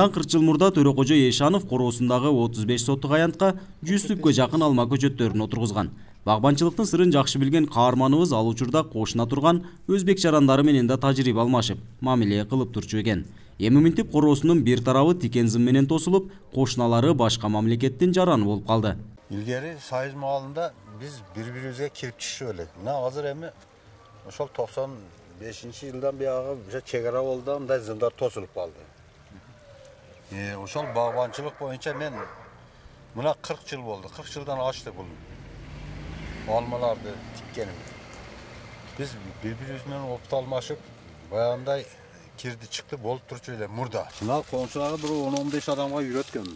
Мындан 40 жыл мурда Төрөкожо Эшанов короосундагы 35 соттук аянтка 100 түпкө жакын алма көчөттөрүн отургузган. Багбанчылыктын сырын жакшы билген каарманыбыз ал учурда кошуна турган өзбек жарандары менен да тажрыйба алмашып, мамиле кылып турчу экен. Эми мынтип короосунун бир тарабы тикен зым менен тосулуп, кошуналары башка мамлекеттин жараны болуп калды. Илгери Союз маалында биз бири-бирибизге кирип чыгышып элек. Мына азыр эми ошол 95-жылдан бияга чек ара болду, мындай зымдар тосулуп калды. Ошол багбанчылык боюнча мен мына 40 жыл болду. 40 жылдан ашты бул алмаларды тиккеним. Биз бири-бирибиз менен опут алмашып, баягындай кирди чыкты болуп турчу эле мурда. Мына коңшуларга бир 10-15 адамга үйрөткөм.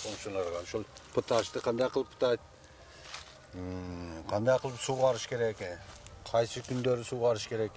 Коңшуларга ошол пыташты кандай кылып пытайт, кандай кылып сугарыш керек, кайсы күндөрү сугарыш керек,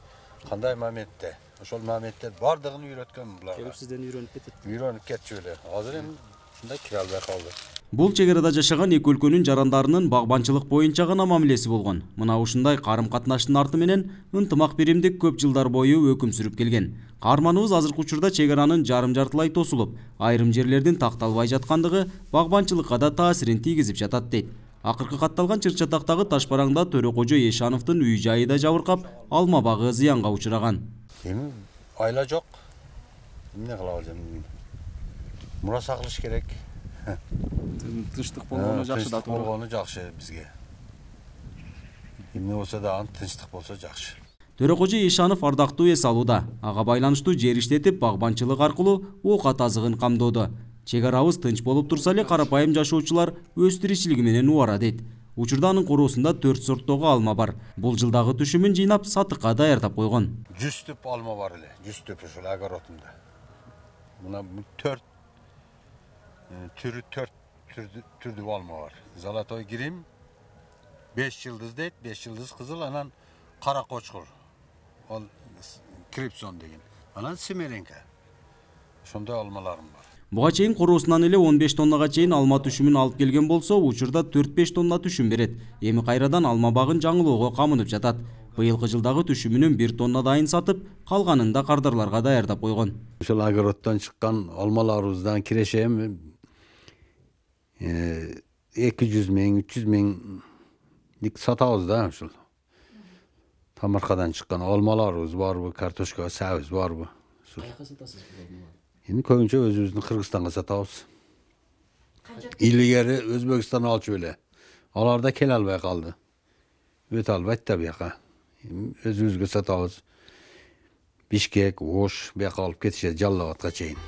кандай моментте. Ошол моментте бардыгын үйрөткөм буларга. Келип сизден үйрөнүп кетет. Үйрөнүп кетчү эле. Азыр эми ушундай кире албай калды. Бул чек арада жашаган эки өлкөнүн жарандарынын багбанчылык боюнча гана мамилеси болгон. Мына ушундай карым-катнаштын арты менен ынтымак биримдик көп жылдар бою өкүм сүрүп келген. Каарманыбыз азыркы учурда чек аранын жарым-жартылай тосулуп, айрым жерлердин такталбай жаткандыгы багбанчылыкка да таасирин тийгизип жатат дейт. Акыркы катталган чыр-чатактагы таш бараңда Төрөкожо Эшановдун үй жайы да жабыркап, алма багы зыянга учураган. Эми айла жок. Эмне кылабыз эми? Мураса кылыш керек. Тынчтык болгону жакшы да, туура. Болгону жакшы бизге. Эмне болсо да тынчтык болсо жакшы. Төрөкожо Эшанов ардактуу эс алууда. Ага байланыштуу жер иштетип, багбанчылык аркылуу оокат азыгын камдоодо. Чек арабыз тынч болуп турса эле карапайым жашоочулар өз тиричилиги менен убара дейт. Учурда анын короосунда 4 сорттогу алма бар. Бул жылдагы түшүмүн жыйнап сатыкка даярдап койгон. 100 түп алма бар эле, 100 түп ушул огородумда. Мына 4 түрдүү алма бар. Золотой грим, 5 жылдыз дейт, 5 жылдыз кызыл, анан кара кочкур. Ал крипсон деген. Анан семеренка. Ошондой алмаларым бар. Буга чейин короосунан эле 15 тоннага чейин алма түшүмүн алып келген болсо, учурда 4-5 тонна түшүм берет. Эми кайрадан алма багын жаңылоого камынып жатат. Быйылкы жылдагы түшүмүнүн 1 тонна дайын сатып, калганын да кардарларга даярдап койгон. Ошол огороддон чыккан алмаларыбыздан кирешем 200 миң, 300 миңдик сатабыз да ушул. Тамаркадан чыккан алмаларыбыз барбы, картошка, сабыз барбы? Каяка сатасыз бул алмаларды? Эми көбүнчө өзүбүздүн Кыргызстанга сатабыз. Илгери Өзбекстан алчу эле. Алар да келе албай калды. Өтө албайт да бияка. Өзүбүзгө сатабыз. Бишкек, Ош, бияка алып кетишет Жалал абадка чейин.